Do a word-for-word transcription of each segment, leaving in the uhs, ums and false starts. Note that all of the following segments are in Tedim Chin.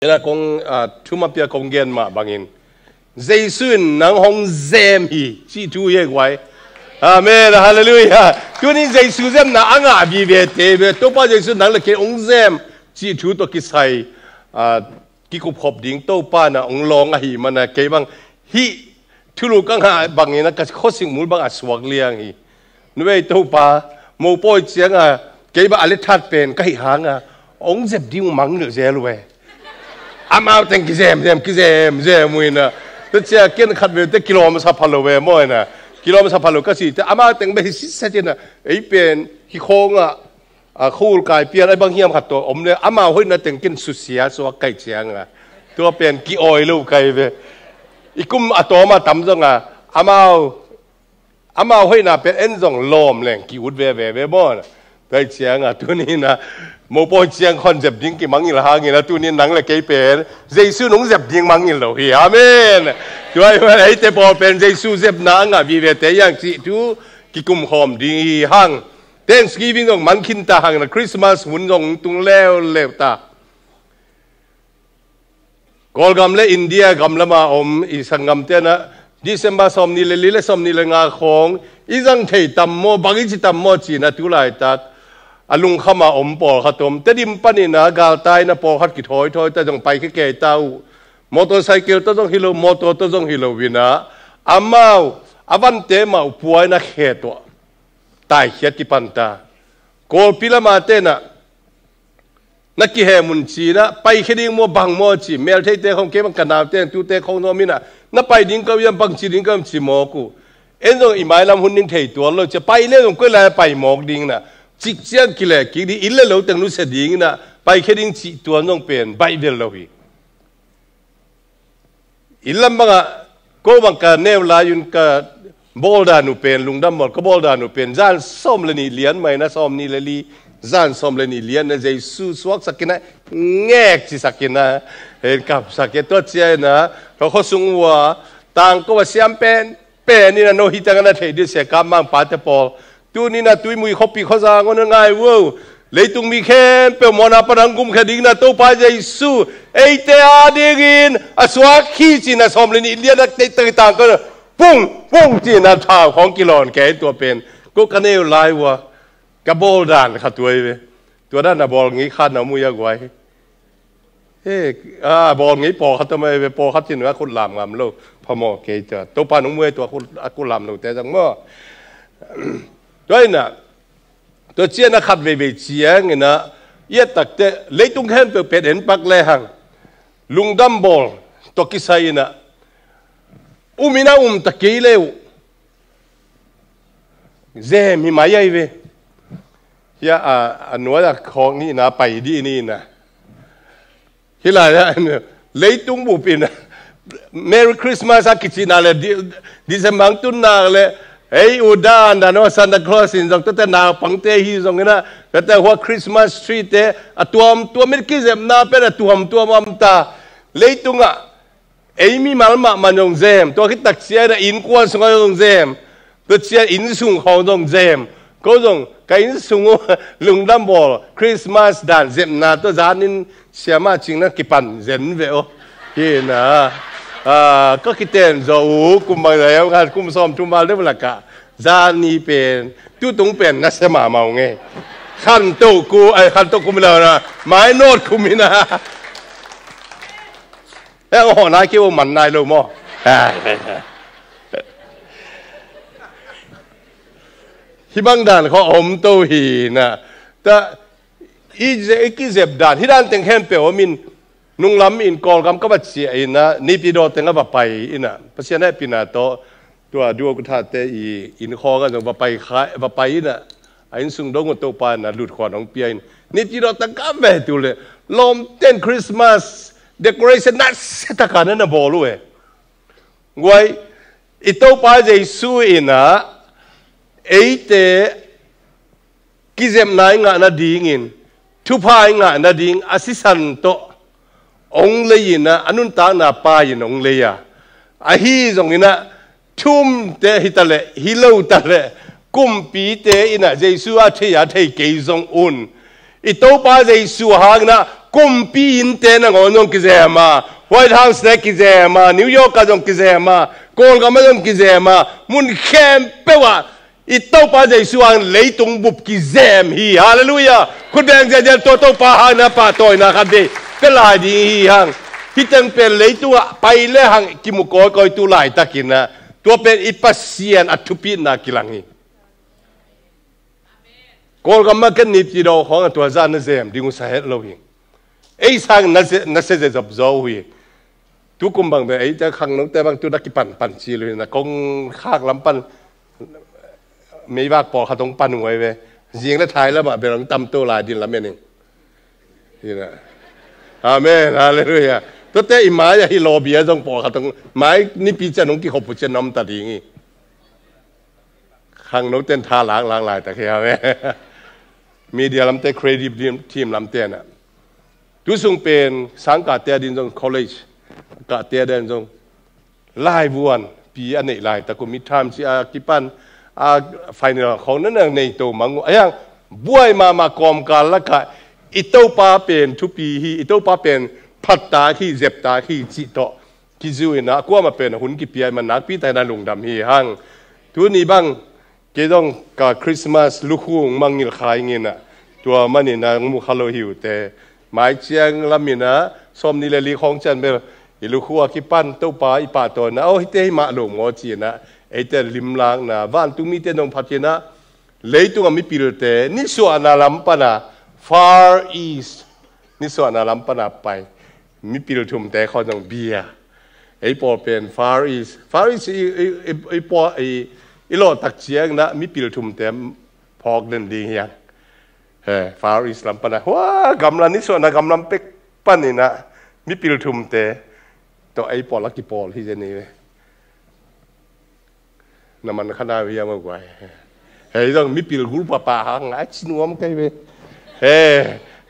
Ina kong, ah, thumapia kong gen mah bangin, Jesu in nang hong zem hi, cih thu hi guai. Amen, halleluiah. Tuni Jesu zemna a ngah vivete ve, Topa Jesu nang le kei hong zem, cih thu tawh kisai, ah, kikupkhop ding Topa na hong lawng ahih mana kei bang hih thulu ka ngah bangin a ka khuasik mul bang a suak liang hi. Nuai Topa, mopawi cianga kei bang a lethat pen ka hih hanga hong zep ding mang nilh zel uh e. Amau teng kizem zem kizem zem uh ina, tua cia ken khat veu te kilawm sa pha lo ve maw ina, kilawm sa pha lo ka si te amau teng bek hi siset ina, ei pen hi khawngah a khul kai pian ai bang hiam khat tawh om le amau hoihna teng ken susia suak kai cianga, tua pen ki-awi lo kai ve. I kum a tawm a tam zonga amau, amau hoihna pen en zong lawm leng ki-ut veve ve maw. Kai cianga tuni ina mopawi ciang khon zep ding kimangngilh hangina tuni nang le kei pen Jesu nong zep ding mangngilh lo hi. Amen. Tua hi man eite pawl pen Jesu zepna a ngah vivete hiang cih thu kikumkhawm ding hi hang. Thanksgiving zong man khin ta hang na Christmas hun zong tung leuleu ta. Kawlgam le India gam lama om i sanggamte na December sawmnih le li le sawmnih le nga khawng i zang thei tam maw, bang i ci tam maw cina tu laitak a lungkhama om pawlkhat om. Tedim panina galtaina pawlkhat kithawithawi ta zong pai khe kei ta uh. Motorcycle ta zong hi lo, motor ta zong hi lo ina amau a vante mah uh puaina khe tuah taikhiat kipan ta. Kawlpi lama tena na kihem un cina, paikhia ding maw bang maw ci, meltheite khong kei bang ka naute tute khong nuam ina, na pai ding ka uh hiam, bangci ding ka uh hiam ci mawk uh. En zong i mailam hun ding thei tuan lo cia, pai le zong koi lai pai mawk ding na, cik ciang kile kik ding, inn le lo teng nusia ding ina, paikhia ding cih tuan zong pen baih vel lo hi. Inn lam bangah ko bang ka neu lai un ka bawldan uh pen, lungdam bawl ka bawldan uh pen zan sawm le nih lian maina sawmnih le li, zan sawm le nih lian na Jesu suaksak ina, ngek cisak ina, en kapsak e tua cia ina, ka khuasung uh a tangko a siam pen pen ina no hi tangana thei dih sia ka mangpate pawl. Tunina tuimui khuapi khuazang on a ngai uh o. Leitung mi khempeuh mawhna pan hong gumkhia dingna Topa Jesu eite a dingin a suak hi cina sawm le nih lian a teitang ka pung pung cina thau khawng kilawn kei tua pen ko ka neu lai uh a ka bawldan kha tuai ve. Tua dan a bawl ngei khat na mu ya guai. He, a bawl ngei pawlkhat tawh mai ve, pawlkhat cin a khut lam ngam lo phamawh kei tua Topa nung muai tua a khut lam lo te zang maw. Tua ina tua ciana khat veivei ciang ina i a takte leitung khempeuh pet en pak le hang lungdam bawl tua kisai ina um ina um ta kei le uh. Zem hi mai ai ve. Hia a, a nuai a khawng ni na pai dih ni na. Hi lai a leitung bup ina Merry Christmas a kicina le di, December ang tun nak le ei u dan dan o Santa Claus in zong tate naupangte hi zong ina tate hua Christmas tree te a tuam tuam in kizepna pen a tuam tuam am ta. Leitungah ei mimal mahmah zong zem, tua khit tak cian a innkuan sungah zong zem, tua cian inn sung khawng zong zem. Ko zong ka inn sung uh lungdam bawl Christmas dan zepna tua zanin siamah cingna kipan zen ve aw. Hi na, ah, ka kiten zaw uh kum bang zai a kum sawm thum val deuh lakah zani pen tutung pen na sia mahmah uh nge. Khantoh ku, ai khantoh kum ina na mai nawt kum ina. E, hawh nai kei uh man nai lo maw? Hih bang dan khaw a om to hi na. Ta i ze-, i kizep dan hih dan teng khempeuh om in nunglam in Kawlgam ka va ciah in na, Naypyidaw teng a va pai in na. Pasian hehpihna tawh tua duo ku thate i inn khawng a zong va pai kha, va pai in na. A inn sung dong uh Topa in na lut khuan hong pia in. Naypyidaw tang ka ve tu le lawmten Christmas decoration na se taka na na bawl uh e. Guai, i Topa Jesu in na eite kizepna i ngah nadingin thupha i ngah nading a sisan tawh hong lei in na a nuntakna pa in hong lei a. Ahi zong in na thumte hi ta le hi lo ta le kumpite in na Jesu a thei a thei kei zong un i Topa Jesu hang in na Kumpi innte nangawn zong kizem a, White House te kizem a, New York ah zong kizem a, Kawlgam ah zong kizem a, mun khempeuh ah i Topa Jesu hang leitung bup kizem hi. Halleluiah. Khut beng ziahziah, tua Topa hang na pahtawina khat vei pia lai ding hi hang. Hih teng pen leitungah pai le hang kimu kawikawi tu laitakin ah, tua pen i Pasian a thupitna kilang hi. Kawlgam ah ken nipci dawh khawng ah tua zah na zem ding uh sa het lo hi. Ei sang na se, na se ze zop zaw uh hi. Tukum bang bel eite khangnote bang tu na kipan pan cil uh hi. Na kong khak lam pan meivak pawlkhat hong pan uh ai ve. Zing le thai lamah bel hong tam to lai din lam en ing. Hi na. Amen. Halleluiah. Tuate i mai ah hi lawbia zong pawlkhat hong, mai nipi cian hong kikhop uh cian na om ta ding hi. Khangno ten tha lak lak laitak hi a ve. Media lamte, creative team lamte na. Tu sung pen sangkahte a din zong, college kahte a din zong laivuan pi a neih laitak uh, midterm ci a kipan a, final khawng na na nei to mang uh. A hiang buai mahmah kawmkal lakah i Topa pen thupi hi, i Topa pen phattak hi, zeptak hi cih tawh kizu in ah, a kuamah pen a hun kipia i man nakpi takin a lungdam hi hang. Tuni bang kei zong ka Christmas lukhu hong mangngilh kha ing in ah, tua manin ah hong mu kha lo hi uh teh. Mai ciang lam in ah sawmnih le li khawng ciang bel i lukhu a kipan Topa i pahtawina, aw hihte hi mah lo maw ci in ah, eite limlakna, vantungmite nong phat in ah, leitungah mipilte nisuahna lam pana Far East, nisuahna lam pana pai mipil thumte khawng zong bia. Ei pawl pen Far East, Far East i, i, i, i, pawl, i, i lawhtak ciangin ah mipil thumte phawk den ding hiang. He, Far East lam pana hua gamla, nisuahna gamlam pek panin ah mipil thumte tawh ei pawl a kipawl hi zen hi ve. Na man kha nai uh hiam a guai? Hei zong mipil group a pa hang a ci nuam kei ve. He,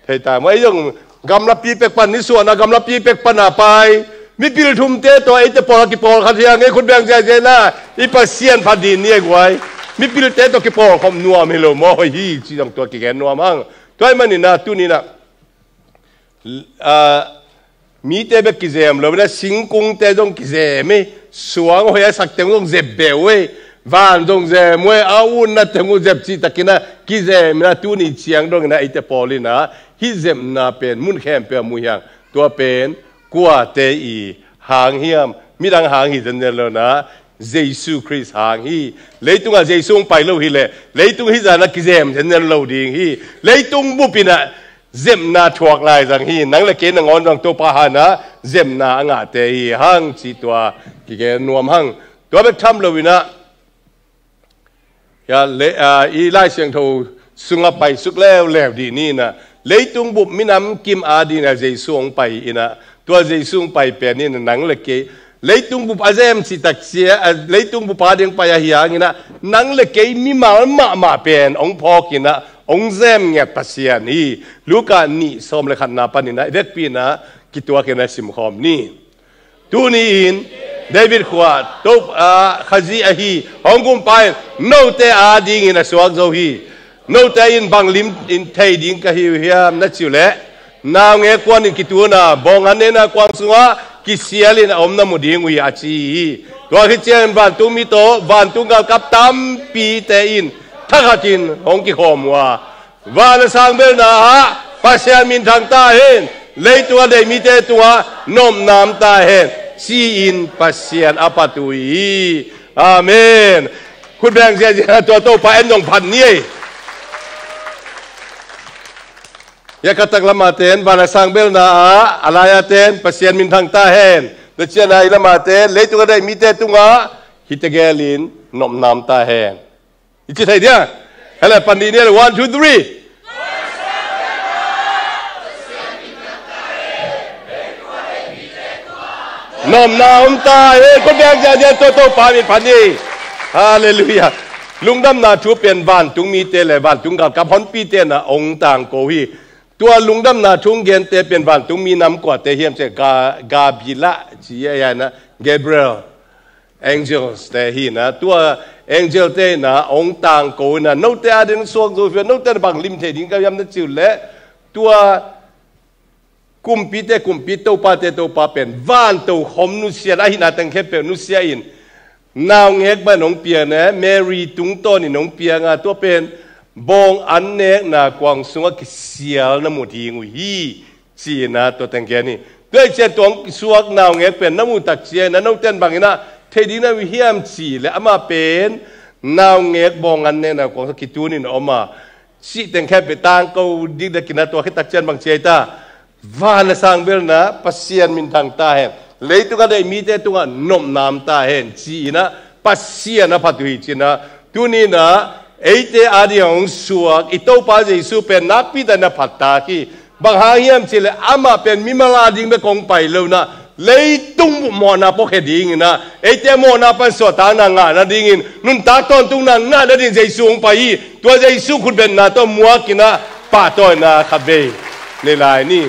thei ta maw, ei zong gamlapi pek pan, nisuahna gamlapi pek pan a pai mipil thumte tawh eite pawl a kipawl khat hiang ei, khut beng ziahziah na, i Pasian phat ding ni a guai. Mipilte tawh kipawl khop nuam hi lo maw, hoih hi ci zong tua kigen nuam hang. Tua ahih manin ah tuni in ah ah, mite bek kizem lo, na singkungte zong kizem ei, suang hoih a sak teng zong zep beh uh ei, van zong zem uh ei, a utna teng uh zep cihtakin ah kizem in ah tuni ciang dongin ah eite pawl in ah hih zepna pen mun khempeuh ah mu hiang. Tua pen kuate i hang hiam? Midang hang hi zenzen lo in ah Jesu Khrist hang hi. Leitungah Jesu hong pai lo hileh leitung hih zah in ah kizem zenzen lo ding hi. Leitung bup in ah zepna thuak lai zang hi. Nang le kei nangawn zong Topa hang in ah zepna a ngahte hi hang cih tua kigen nuam hang. Tua bek tham lo in ah, ya, le, ah, i Lai Siangtho sungah paisuk leuleu dih ni in ah, leitung bup minam kim a ding in ah Jesu hong pai in ah, tua Jesu hong pai pen in ah nang le kei leitung bup a zem cihtak cia, ah, leitung bup a ding pai ahi hangin ah nang le kei mimal mahmah pen hong phawk in ah hong zem ngiat Pasian hi. Luka nih sawm le khatna panin ah i vekpi in ah kituak in ah simkhawm ni. Tuni in David khua Topa, ah, Khazih ahi hong kumpa in note a dingin a suak zo hi. Note in bang lim in thei ding ka hi uh hiam na ci uh leh, naungek kuan in kitun a, bawngah nena kuang sungah kisial in a om na mu ding uh hi a ci hi. Tua khit ciangin vantungmi tawh vantung galkap tampite in thakhatin hong kikhawm uh a, van a sang belna ah Pasian minthang ta hen, leitung a deih mite tungah nopna om ta hen ci-in Pasian a phat uh hi. Amen. Khut beng ziahziah, tua Topa en dong phat ni ei. Ya, ka tak lamah ten van a sang belna ah, a lai-a ten Pasian minthang ta hen. Na cian a i lamah ten leitung a deih mite tungah hihte gelin nopna om ta hen. I ci thei dia? Hele, pan dih ni le, one, two, three. Nopna om ta hen, khut beng ziahziah, tua Topa min phat ni. Halleluiah. Lungdamna thu pen vantungmite le vantung galkap honpite in ah hong tangko hi. Tua lungdamna thu hong gente pen vantungmi nam kuate hiam cih leh, Ga, Gabriel ci a, hi in ah, Gabriel. Angels te hi in ah, tua angel te in ah hong tangko in ah, note a ding suak zo hi a, note in ah bang lim thei ding ka hiam na ci uh leh, tua Kumpite kumpi, topate topa pen vanto khom nusia, a hihna teng khempeuh nusia in, naungek bang hong pia ne, Mary tungtawnin hong pianga, tua pen bawng an nekna kuang sungah kisial na mu ding uh hi, ci-in ah tua teng gen hi. Tua hi ciang tua hong suak naungek pen na muh tak ciangin ah, note in bang in ah thei ding na uh hiam cih leh, amah pen naungek bawng an nekna kuang sungah kitunin a om a, cih teng khempeuh tangko dikdakin ah, tua khit tak ciang bang ci hiam cih leh, van a sang belna Pasian minthang ta hen, leitung a deih mite tungah nopna om ta hen, ci-in ah Pasian a phat uh hi, ci-in ah tuni-in ah eite ading a hong suak i Topa Jesu pen nakpi takin a phat tak hi. Bang hang hiam cih leh amah pen mimal ading bek hong pai lo-in ah, leitung mawhna pawh khia dingin ah, eite mawhna pan suahtakna ngah nadingin, nuntak tawntungna ngah nadingin Jesu hong pai hi. Tua Jesu khutbetna tawh muakin ah pahtawina khatvei nei lai ni.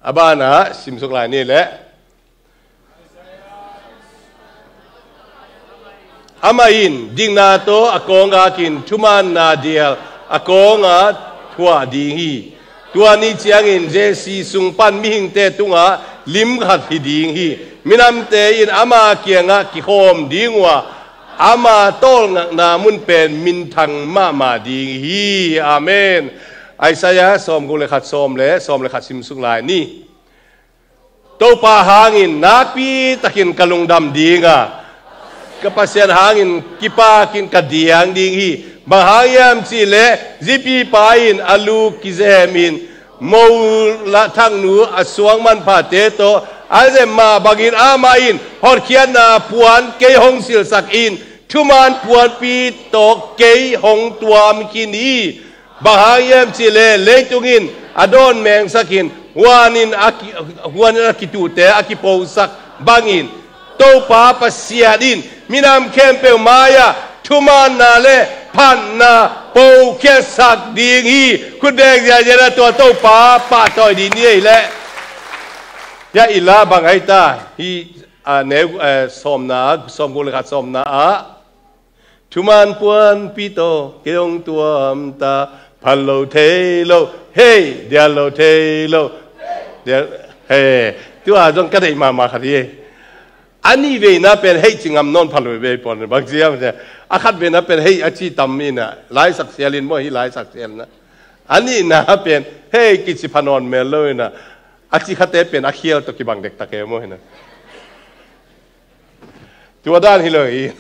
A banah simsuk lai ni leh, amah in dikna tawh a kawnggak in thumaanna dial a kawngah thuah ding hi. Tua ni ciangin Jesse sung pan mihingte tungah lim khat hi ding hi. Minamte in ama kiangah kikhawm ding uh a, ama tawlngakna mun pen minthang mahmah ding hi. Amen. Isaiah sawmguk le khat, sawm le, sawm le khat simsuk lai ni. Topa hangin nakpi takin ka lungdam ding a, ka Pasian hangin kipakin ka diang ding hi. Bang hang hiam cih leh zipipa in a lu kizemin, mo lah thaknu a suang manphate tawh a zem mah bangin amah in hotkhiatna puan kei hong silhsak in, thumaan puanpi tawh kei hong tuam khin hi. Bang hang hiam cih leh leitung in a dawn mengsak in, huan in a ki-, huan in a kituhte a kiposak bangin, Topa Pasian in minam khempeuh mai-ah thumaanna le phatna pokhiatsak ding hi. Khut beng ziahziah in ah tua Topa pahtawi dih ni ei leh. Hiah i la bang ai ta, hih, a, neu, eh, sawmna, sawmguk le khat sawmna ah, thumaan puanpi tawh kei hong tuam ta, phal lo thei lo, hei, dial lo thei lo, dial, hei, tua zong ka deih mahmah khat hi. A nih veina pen hei ci ngam nawn pha lo veve pawn, bang ci hiam cih leh, a khat veina pen hei a ci tam in ah, laisak sial in maw, hih laisak sial in ah. A nihna pen hei kici pha nawn mel lo in ah, a ci khate pen a khial tawh kibang dektak e maw hi in ah. Tua dan hi lo hi.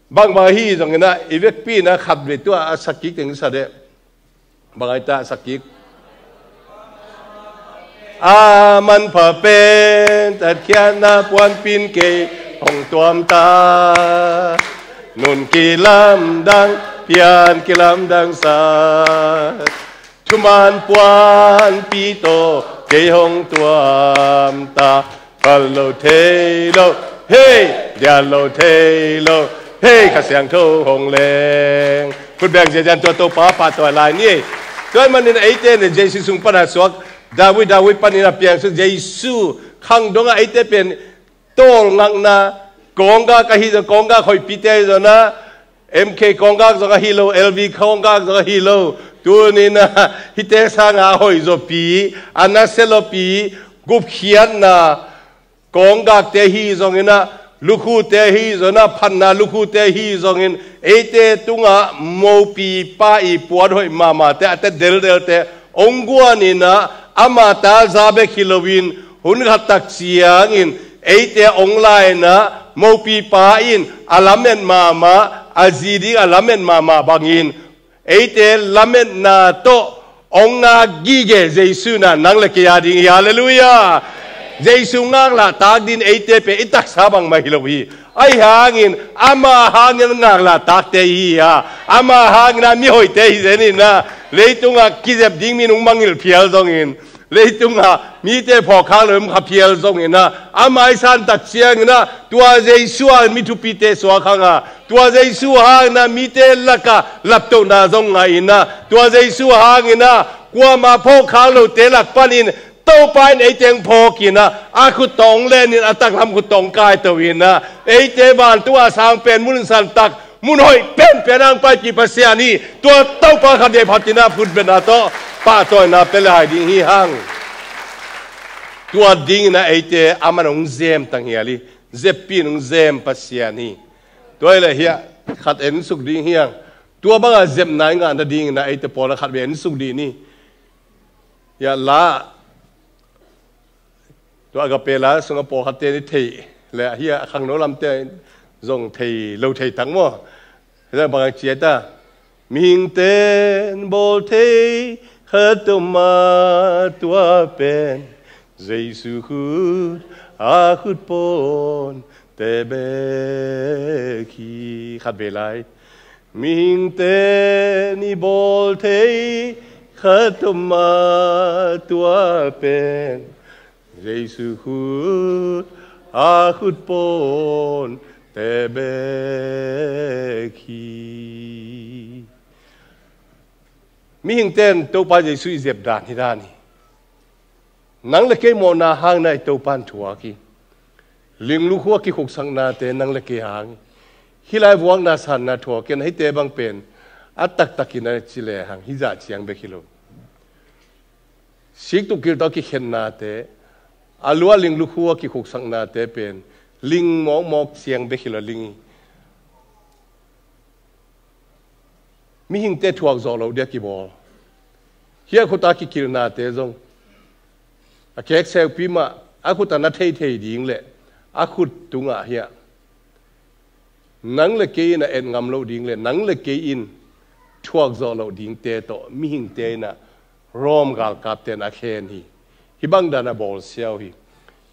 Bangbang ahi zongin ah, i vekpi in ah khatvei tua a sak kik teng sa deh. Bang ai ta a sak kik. A manpha pen tatkhiatna puanpi in kei hong tuam ta. Nun kilamdang, pian kilamdang sa. Thumaan puanpi tawh kei hong tuam ta. Phal lo thei lo, hei, dial lo thei lo, hei, Kha Siangtho hong leng. Khut beng ziahziah in tua Topa pahtawi lai ni. Tua ahih manin eite in Jesu sung pan a suak, David, David panin a piang sung Jesu khang dongah eite pen tawlngakna, kawnggak ahi zong, kawnggak hoihpite ahi zong ah, M K kawnggak zong ahi lo, L V kawnggak zong ahi lo. Tuni in ah hihte sangin a hoihzawpi, a naselawpi, gupkhiatna kawnggakte ahi zongin ah, lukhute ahi zongin ah, phatna lukhute ahi zongin, eite tungah mopipa i puan hoih mahmahte, a tet deldelte hong guan in ah, ama ta za bek hi loin, hun khat tak ciangin eite hong la in ah, mopipa in a lamet mahmah, a zi ding a lamet mahmah bangin, eite lametna tawh hong ngak gige Jesu in ah nang le kei a ding hi. Halleluiah. Jesu ngaklah tak ding eite pen i taksa bangmah hi lo hi. Ahi hangin ama hangin ngaklahtakte i hi a, ama hangin a mihoihte hi zen in ah, leitungah kizep ding mi in hong mangngilh phial zongin, leitungah mite phawk khak lo in hong kha phial zongin ah, ama i san tak ciangin ah, tua Jesu a mi thupite suak hang a, tua Jesu hangin ah mite lakah laptohna zong ngah in ah, tua Jesu hangin ah kuamah phawk khak lote lak panin Topa in eite hong phawk in ah, a khut tawh hong len in, a taklam khut tawh hong kaito in ah, eite vantung a sang pen mun santak, Mun hoih penpen hang paipih Pasian hi. Tua Topa khat vei phat in ah phutbetna tawh pahtawina pia le hai ding hi hang. Tua dingin ah eite aman hong zem tanghial hi. Zeppi in hong zem Pasian hi. Tua hi leh hiah khat en suk ding hi hang. Tua banga zepna i ngah nadingin ah eite pawl ah khat vei en suk dih ni. Hiah la, tua Agape la sungah pawlkhatte ni thei le, hiah a khangno lamte zong thei lo thei tak maw? Hiah bang a ciah ta. Mihingte in bawl thei khat om a, tua pen Jesu khut a khut pawn te bek hi. Khat vei lai. Mihingte in i bawl thei khat om a, tua pen Jesu khut a khut pawn te bek hi. Mihingte in Topa Jesu i zep dan hi dan hi. Nang le kei mawhna hangin ah i Topa in thuak hi. Linglukhua kikhuksaknate nang le kei hang hi. Hih lai vuakna sanna thuak hi a, hihte bang pen a taktakin a ci lehang hih zah ciang bek hi lo. Siktuk kil tawh a kikhennate, a lua linglukhua kikhuksaknate pen ling mawkmawk ciang bek hi lo, ling hi. Mihingte thuak zawh loh dia kibawl. Hiah khut a kikilhnate zong a kek seupi mah a khut a na theithei ding le a khut tungah hiah nang le kei in a et ngam loh ding le nang le kei in thuak zawh loh dingte tawh mihingte in a Rom galkapte in a khen hi. Hih bang dan a bawl siau hi.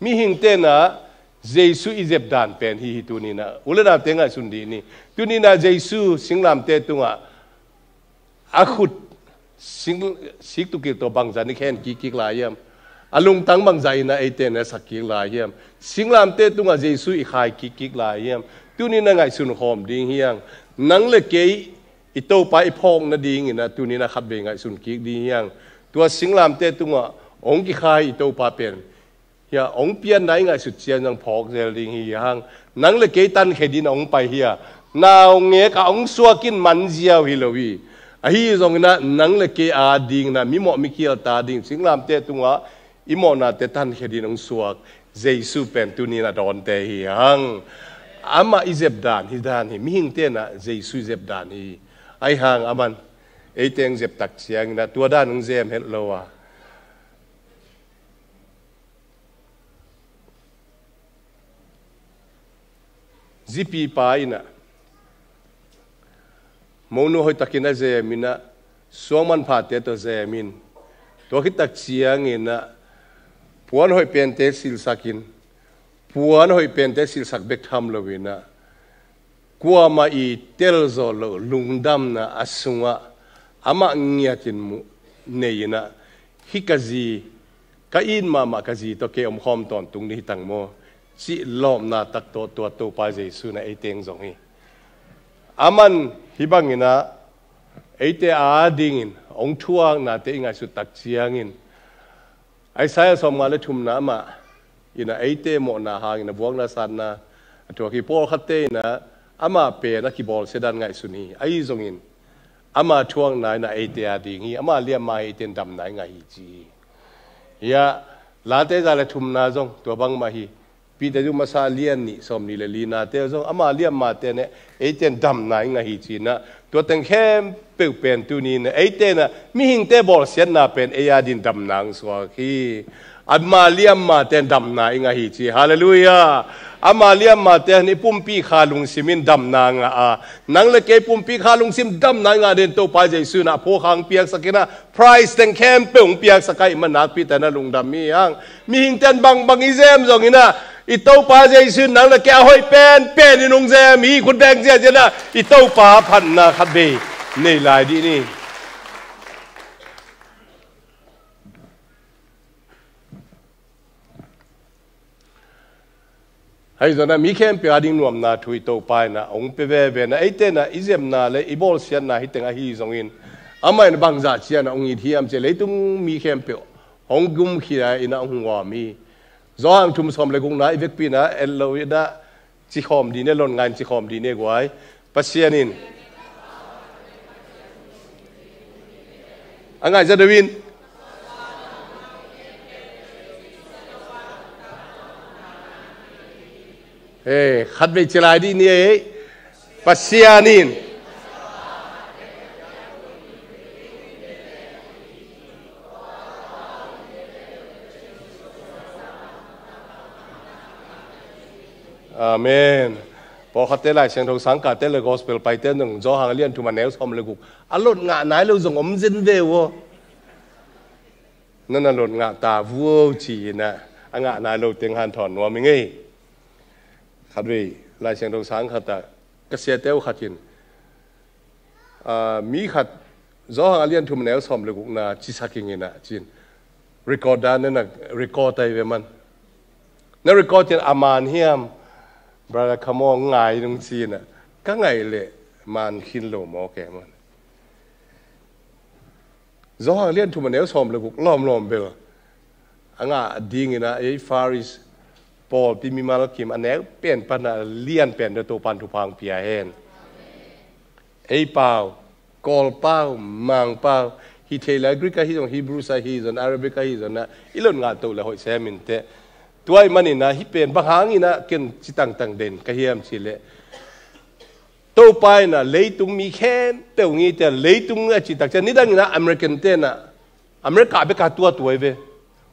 Mihingte in a Jesu i zep dan pen hi hi. Tuni in a u le naute ngaihsun dih ni. Tuni in a Jesu singlamte tungah a khut sing, siktukil tawh bangzah in i khen kikkik lai hiam? A lungtang bangzah in a eite in a sak kik lai hiam? Singlamte tungah Jesu i khai kikkik lai hiam? Tuni in a ngaihsun khawm ding hi hang. Nang le kei i Topa i phawk nadingin a tuni in a khat vei ngaihsun kik ding hi hang. Tua singlamte tungah hong kikhai i Topa pen hiah hong pianna i ngaihsut ciang zong phawk zel ding hi hang. Nang le kei tankhia dingin hong pai hi a, naungek ah hong suak in man ziau hi lo hi. Ahi zongin a nang le kei a dingin a mimawh mikhial ta ding singlamte tungah i mawhnate tankhia dingin hong suak Jesu pen tuni in a dawnte hi hang. Amah i zep dan hi dan hi. Mihingte in a Jesu i zep dan hi. Ahi hang aman eite hong zep tak ciangin a tua dan hong zem het lo a, zipipa in a monu hoihtakin a zem in a suang manphate tawh zem in, tua khit tak ciangin a puan hoih pente silsak in, puan hoih pente silsak bek tham lo in a kuamah i tel zawh loh lungdamna a sungah amah ngiatin mu nei in a, hih ka zi, ka it mahmah ka zi tawh kei omkhawm tawntung ding hi tang maw, cih lawpna tak tawh tua Topa Jesu in a eite hong zong hi. Aman hih bangin a eite a dingin hong thuaknate i ngaihsut tak ciangin Isaiah sawmnga le thumna amah in a eite mawhna hangin a vuakna sanna a thuak hi. Pawlkhatte in a amah pen a kibawlsia dan ngaihsun hi. Ahi zongin ama thuakna in a eite a ding hi. Ama liamma hi eite in damna i ngah hi ci hi. Hiah Late za le thumna zong tua bangmah hi. Peter zu masa lian nih sawmnih le linate zong ama liammate in a eite in damna i ngah hi ci in a, tua teng khempeuh pen tuni in a eite in a mihingte bawlsiatna pen ei a dingin damna hong suak hi. Ama liammate in damna i ngah hi ci. Halleluiah. Ama liammate in i pumpi kha lungsim in damna ngah a, nang le kei pumpi kha lungsim damna i ngah dingin Topa Jesu in a phukhang piaksak in a prize teng khempeuh hong piaksak ahih man nakpi tak in a lungdam hi hang. Mihingte in bangbang i zem zongin a i Topa Jesu in nang le kei a hoih penpen in hong zem hi. Khut beng ziahziah in a i Topa phatna khat vei nei lai dih ni. Ahi zongin a mi khempeuh a ding nuamna thu i Topa in a hong pia veve in a, eite in a i zepna le i bawlsiatna hih teng ahi zongin amah in bangzah ciang a hong it hiam cih leitung mi khempeuh hong gumkhia in a hong huam hi. Johan thum sawm le gukna i vekpi in a et lo in a cikhawm dih ni, lon ngai in cikhawm dih ni guai. Pasian in a ngaih za deuh in. Hei, khatvei ci lai dih ni ei. Pasian in. Amen. Pawlkhatte Lai Siangtho sangkahte le gospel paite nung Johan a lian thum a neu sawm le guk a lot ngah nai lo zong om zen ve uh aw. Nana lot ngah ta vuo ci-in ah a ngah nai lo teng hanthawn nuam i ngei. Khatvei Lai Siangtho sang khat ah ka siate uh khat in, ah, mi khat Johan a lian thum a neu sawm le gukna cisak ing in ah ci-in record dan nana record ai ve man. Na record in a man hiam, brother Khamawng ngai nung ci-in ah ka ngaih leh man khin lo maw ke man. Johan lian thum a neu sawm le guk lawmlawm bel a ngah dingin ah ei Faris pawlpi mimal kim a neu pen pan a lian pen deuh Topan thupha hong pia hen. Ei pau, Kawl pau, Mang pau, hih thei lai Greek ahi zong, Hebrews ahi zong, Arabic ahi zong ah i lot ngah toh le hoih sem in teh. Tua ahih manin ah hih pen bang hangin ah ken ci tangtang den ka hiam cih leh Topa in ah leitung mi khempeuh ngi te leitung a cih tak ciang nidang in ah American te in ah America bek a tuatua hi ve.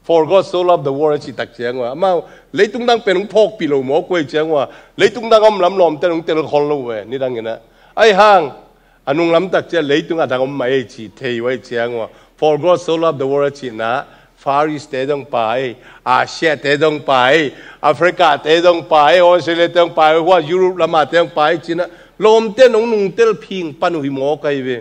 For God so loved the world a cih tak ciang uh ah amau leitung dang pen hong phawkpih lo mawk uh ahih ciang uh ah leitung dang a om lam lawmte in hong tel khol lo uh eh nidang in ah. Ahih hang a nung lam tak ciang leitung a dang om mah ei cih thei uh ahih ciang uh ah For God so loved the world a cihna Faris te dong pai, Asia te dong pai, Africa te dong pai, Australia te dong pai, hua Europe lama te dong pai cihna lawmte in hong nungtel phing pan uh hi mawk ahi ve.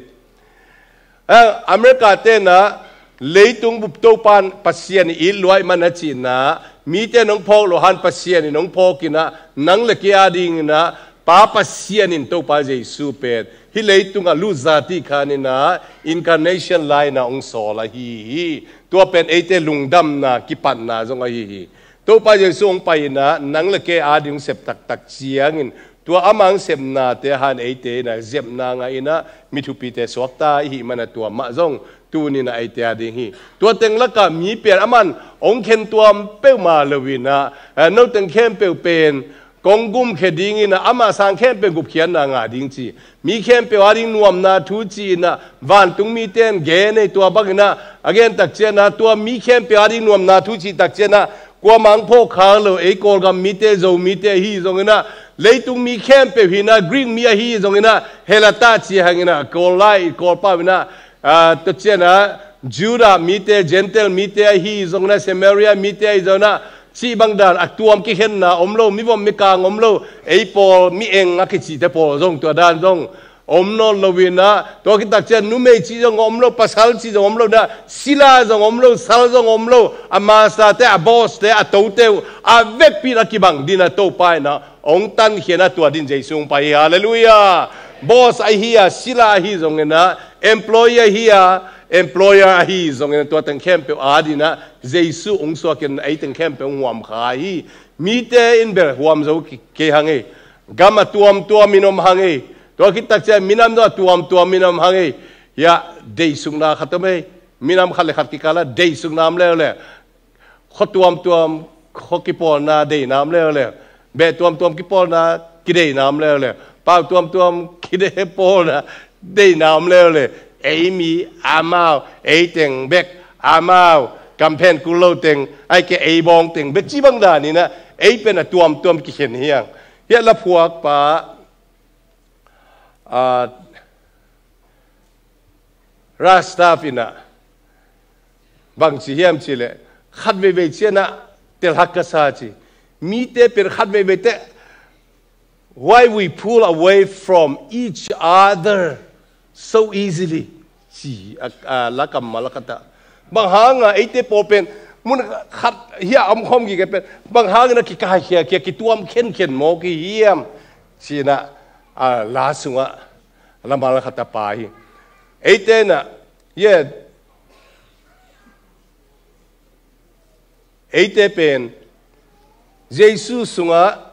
Ah, America te in ah leitung bup Topan Pasian i it luai man a cihna mite in hong phawk lo han Pasian in hong phawk in ah nang le kei a dingin ah Pa Pasian in Topa Jesu pen hih leitung a lut zati khan in ah incarnation lai in ah hong sawl ahi hi. Tua pen eite lungdamna kipatna zong ahi hi. Topa Jesu hong pai in ah nang le kei a ding hong sep taktak ciangin tua ama hong sepnate han eite in ah zepna ngah in ah mi thupite suakta i hih man ah tua mah zong tuni in ah eite a ding hi. Tua teng lakah mi pian aman hong khen tuam peuhmah lo in ah, eh, no teng khempeuh pen kong gumkhia dingin ah ama sang khempeuh gupkhiatna ngah ding ci. Mi khempeuh a ding nuamna thu ci-in ah vantung mite in gen ei tua bangin ah a gen tak ciang ah tua mi khempeuh a ding nuamna thu cih tak ciang ah kuamah hong phawk khak lo ei Kawlgam mite Zo mite ahi zongin ah leitung mi khempeuh hi in ah Greek mi ahi zongin ah Helata ci hangin ah Kawl lai Kawl pau in ah, ah, tua ciang ah Judah mite Gentile mite ahi zongin ah Samaria mite ahi zongin ah cih bang dan a tuam kikhenna om lo, mivom mikang om lo, ei pawl mi eng a kicihte pawl zong tua dan zong om nawn lo in ah, tua khit tak ciang numei cih zong om lo, pasal cih zong om lo in ah, sila zong om lo, sal zong om lo, a masate, a bosste, a tote uh a vekpi in a kibang ding in ah Topa in ah hong tankhia in ah tua ding Jesu hong pai hi. Halleluiah. Boss ahi a, sila ahi zongin ah, employee ahi a, employer ahi zongin ah tua teng khempeuh a ding in ah Jesu hong suak in ei teng khempeuh hong huamkha hi. Mite in bel huam zo ki-, kei hang ei. Gam a tuamtuam in om hang ei. Tua khit tak ciang minam zong a tuamtuam in om hang ei. Hiah deihsukna khat om ei. Minam khat le khat kikal ah deihsukna om leuleu. Khua tuamtuam khua kipawlna deihna om leuleu. Beh tuamtuam kipawlna kideihna om leuleu. Pau tuamtuam kidei pawlna deihna om leuleu. Ei mi amau, ei teng bek amau, kamphen kul lo teng, ahih kei leh ei bawng teng bek cih bang dan in ah ei pen a tuamtuam kikhen hi hang. Hiah laphuakpa, ah, Rastav in ah bang ci hiam cih leh khat veivei ciang ah telhak ka sa ci. Mite pen khat veivei teh why we pull away from each other so easily ci a, a, la kammal khat ah. Bang hang a eite pawl pen mun khat hiah a om khawm gige pen bang hangin a kikaikhia khia kituam khenkhen mawk i hiam ci-in ah, a, la sungah lammal khat a pha hi. Eite in ah, yeah, eite pen Jesu sungah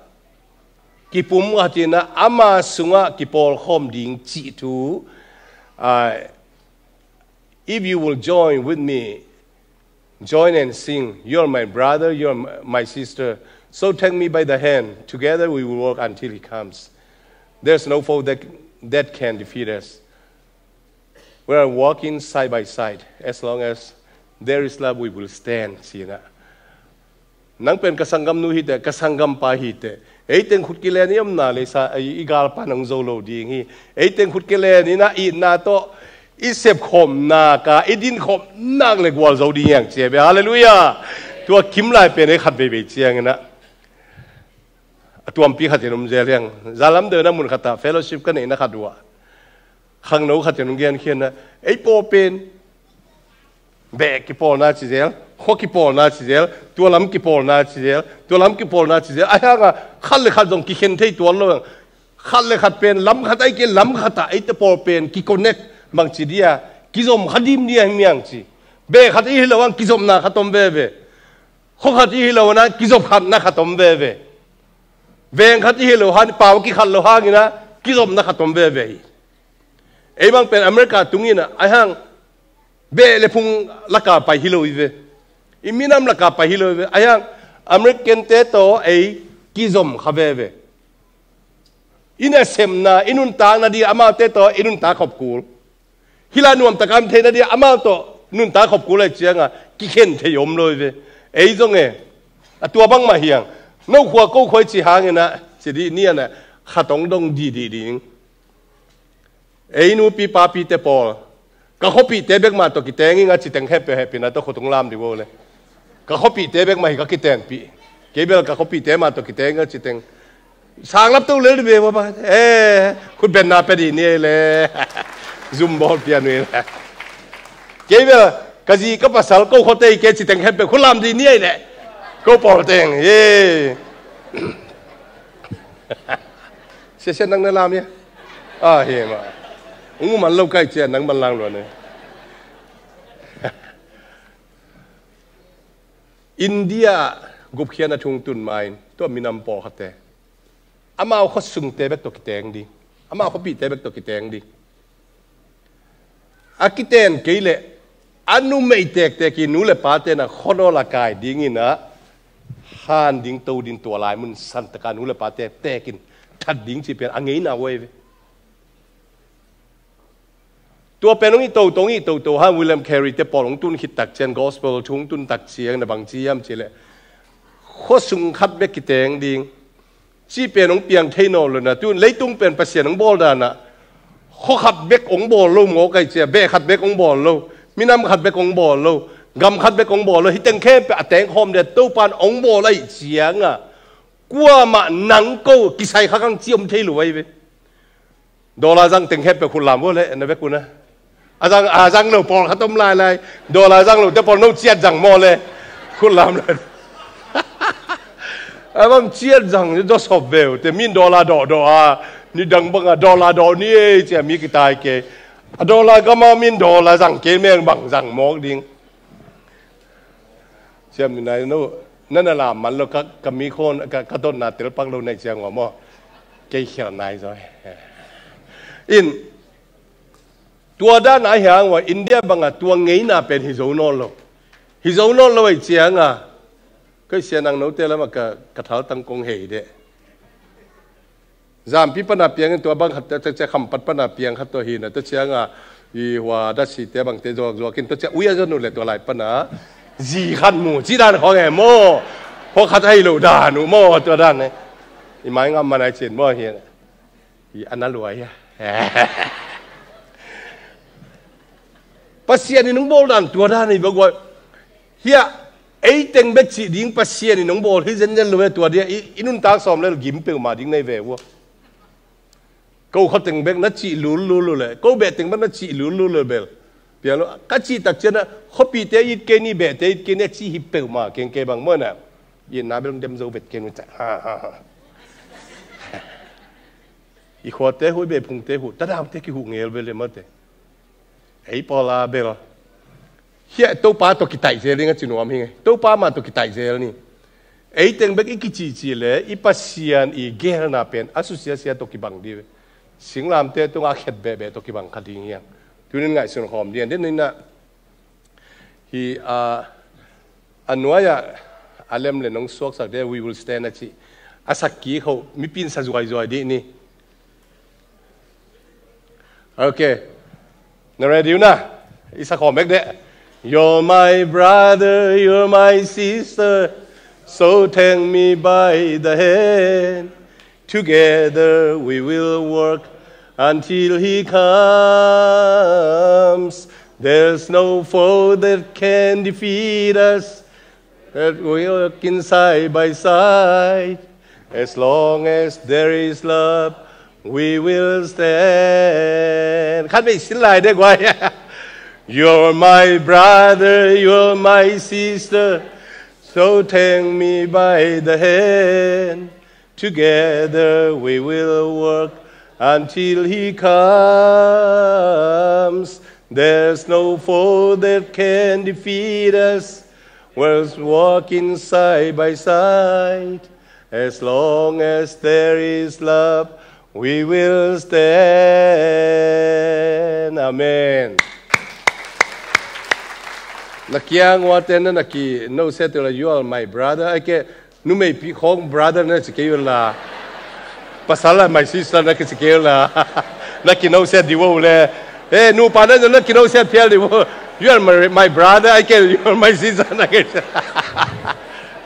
kipum khat in ah ama sungah kipawlkhawm ding cih thu, ah, if you will join with me, join and sing, "You're my brother, you're my sister. So take me by the hand. Together we will walk until he comes. There's no foe that, that can defeat us." We are walking side by side. As long as there is love, we will stand, ci-in ah. Nang pen ka sanggamnu hi teh, ka sanggampa hi teh, ei teng khut kilen i omna le sa, i, i galpa nang zo lo ding hi. Ei teng khut kilen in ah itna tawh i sepkhawm nak a, i dinkhawm nak le gualzo ding hi hang ci hi ve. Halleluiah. Tua kim lai pen ei khat veivei ciangin ah a tuampi khat in om zel hi hang. Zalam deuh na mun khat ah fellowship ka neihna khat uh ah khangno khat in hong genkhiatna, ei pawl pen beh kipawlna ci zel, khua kipawlna ci zel, tua lam kipawlna ci zel, tua lam kipawlna ci zel. Ahi hangin khat le khat zong kikhen thei tuan lo hang. Khat le khat pen lam khat ahih kei leh lam khat ah eite pawl pen kiconnect bangci dia, kizom kha dim dia hi hang ci. Beh khat i hi lo hang kizopna khat om veve. Khua khat i hi lo hang kizop khatna khat om veve. Veng khat i hi lo hang, pau kikhat lo hangin ah kizopna khat om veve hi. Ei bang pen America tung in ah, ahi hang beh le phung lak ah pai hi lo hi ve. I minam lak ah pai hi lo hi ve. Ahi hang American te tawh ei kizom kha veve. I nasepna, i nuntakna ding amaute tawh i nuntak khop kul. Hih lai nuamtak a om theihna ding amau tawh nuntak khop kul ahih ciangin kikhen thei om lo hi ve. Ei zong e, a tua bangmah hi hang. No khua ko khua i cih hangin ah ci dih ni a, na khat hong dong dihdih ding. Ei nupi papite pawl, ka khuapihte bek mah tawh kiteng ing a ci teng hehpihna tawh khut hong lam dih vo le. Ka khuapihte bek mah hi ka kitenpih. Kei bel ka khuapihte mah tawh kiteng ing a ci teng. Sang lap to lel dih ve vo bang. Eh, khut benna pia dih ni ei le. Zum bawl pian uh ei le. Kei bel ka zi ka pasal ko khuate hi kei ci teng hehpih khut lam dih ni ei le. Ko pawl teng. Ye. Sia sia nang na lam ia. Ah, hi mah. Ung man lo kai cia nang man lang luan e. India gupkhiatna thu hong tun ma-in tua minam pawlkhatte amau khuasungte bek tawh kiteng ding, amau khuapihte bek tawh kiteng ding. A kiten kei leh a numei tektek i nu le pate na khuanawl a kai dingin ah han ding, to ding, tua lai mun santaka nu le pate tekin that ding cih pen a ngeina uh ahi ve. Tua pen hong i toto, hong i toto hang William Carey te pawl hong tun khit tak ciang, gospel thu hong tun tak ciang na bang ci hiam cih leh khuasung khat bek kiteng ding cih pen hong piang thei nawn lo na. Tun leitung pen Pasian hong bawl dan ah khua khat bek hong bawl lo mawk ahih ciang, beh khat bek hong bawl lo, minam khat bek hong bawl lo, gam khat bek hong bawl lo, hih teng khempeuh a tengkhawm ding a Topa in hong bawl ahih ciangin kuamah nang ko kisai kha kang ci om thei lo ahi ve. Dollar zang teng hehpih khut lam vo le, na vek un a. A zang, a zang lo pawlkhat om lailai. Dollar zang lo te pawl no ciat zang maw le. Khut lam le. A bang ciat zang ni dawsop ve uh te, min dollar dawhdawh a, nidang bang a dollar dawh ni ei ci a mi kitai kei. A dollar gam a min dollar zang kei meng bang zang mawk ding. Siam ni nai no, na na lam man lo ka, ka mi khon, ka, ka dotna telpak lo nai ciang uh maw. Kei khial nai zaw. In, tua dan a hi hang uh a India bang a tua ngeina pen hi zo nawn lo. Hi zo nawn lo ahih ciangin kei sia nang note lam ah ka, ka thaltang kong hei deh. Zampi pana piangin tua bang khat, tua cia Khampat pana piang khat tua hi na, tua ciangin i hua dasi te bang te zuak zuak in, tua cia uia zon uh le tua lai pana zi khat mu ci dan khong e maw. Khua khat ahi lo dan uh maw, tua dan e. I mai ngam man ai cin maw hi. I ana luai a. Pasian in hong bawl dan tua dan hi bek uh a. Hiah ei teng bek cih ding Pasian in hong bawl hi zenzen lo e, tua dia i, i nuntak sawm lel gim peuhmah ding nei ve uh a. Ko khua teng bek na cih lul lul lo le, ko beh teng bek na cih lul lul lo bel. Piang lo, ka cih tak ciang a, khuapihte it kei ni, behte it kei ni a cih hi peuhmah keng kei bang maw na. Itna bel dem zo vet kei nu ca. Ha, ha, ha. I khuate huh, i beh phungte huh, tadaute kihuh ngel bel le mate. Ei pawl a bel. Hiah Topa tawh kitaih zel ding a ci nuam hi ngei. Topa mah tawh kitaih zel ni. Ei teng bek i kicihcih le i Pasian i gelna pen a susiasia tawh kibang dih. Singlamteh tungah a khet behbeh tawh kibang kha ding hiang. Tunin ngaihsun khawm dih. Tunin ah hi a, a nuai-ah a lem le nong suaksak dih, "We will stand," a cih. A sak kik ho, mipi in sa zuaizuai dih ni. Okay. Na ready uh na? I sa khawm bek dih. You're my brother, you're my sister, so take me by the hand. Together we will work until he comes. There's no foe that can defeat us. That we work in side by side. As long as there is love, we will stand. Khat vei sin lai dih guai. You're my brother, you're my sister, so take me by the hand. Together we will work until he comes. There's no foe that can defeat us. We're walking side by side. As long as there is love, we will stand. Amen. Na kiang uate na na ki no se tu la, "You are my brother." Ai ke, numei pi khong brother na ci kei la. Pasal la my sister na ki ci kei la. Na ki no se di wo le. Eh, nupa na na ki no se phial di wo. "You are my, my brother." Ai ke, "You are my sister." Na ki.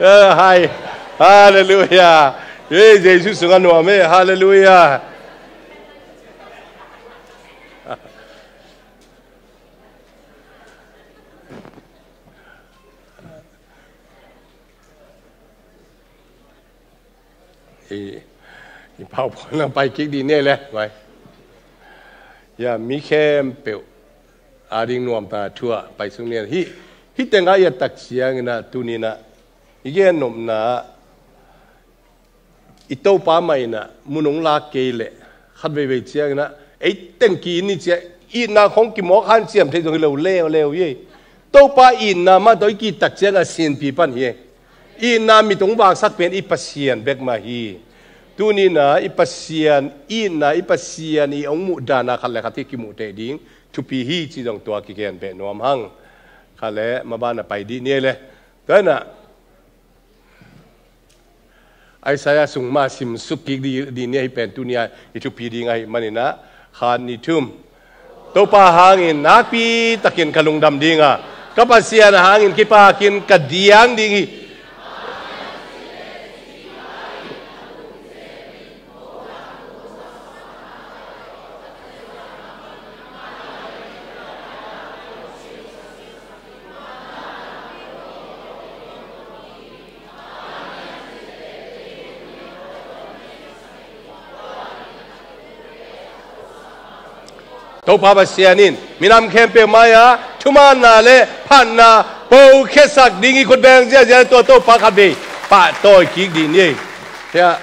Eh, hai. Hallelujah. Eh, Jesus sungah nuam eh. Hallelujah. I, i pau pau nang pai kik di ne le, vai. Ya, mi khempeuh a ding nuamta thu ah pai sung ne. Hi, hi teng a i a tak ciangin ah, tuni-in ah i gen nopna, i Topa mah in ah mun hong lak kei leh, khat veivei ciangin ah ei teng ki-it ni ci-a, itna khong kimawk hanciam thei zong hi lo leuleu hi. Topa itna mah tawh i ki-it tak ciangin a sinpi pan hi. Itna mit hong vaksak pen i Pasian bek mah hi. Tuni-in ah i Pasian itna, i Pasian i hong muh dan a khat le khat hi kimuh teh ding thupi hi ci zong tua kigen beh nuam hang. Khat le maban a pai dih ni ei le. Tua in ah Isaiah sung mah simsuk kik di, di ni ahi pen tuni-a i thupi ding ahih manin ah, khat, nih, thum. Topa hangin nakpi takin ka lungdam ding a, ka Pasian hangin kipakin ka diang ding hi. Topa Pasian in minam khempeuh mai-ah thumanna le phatna pokhiatsak ding hi. Khut beng ziahziah, tua Topa khat vei pahtawi kik dih ni. Hiah.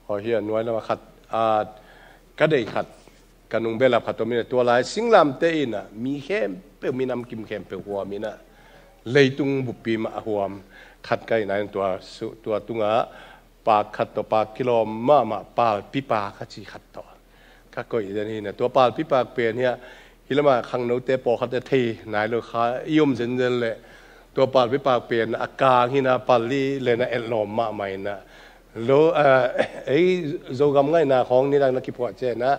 Aw, hi a nuai lam a khat, a, ka deih khat, ka nung behlap khat om in ah, tua lai singlamteh in ah mi khempeuh, minam kim khempeuh huam in ah, leitung buppi mah a huam khat ka hihna in tua su-, tua tungah pak khat tawh pak kilawm mahmah, palpi pak a ci khat tawh ka koih den hi in ah, tua palpi pak pen hiah, hih lamah khangnote pawlkhat a thei nai lo kha i om zenzen leh, tua palpi pak pen a kang hi in ah, pali le na etlawm mahmah in ah, lo, a, ei Zogam ngaihna khawng nidang na kiphuah ciang in ah,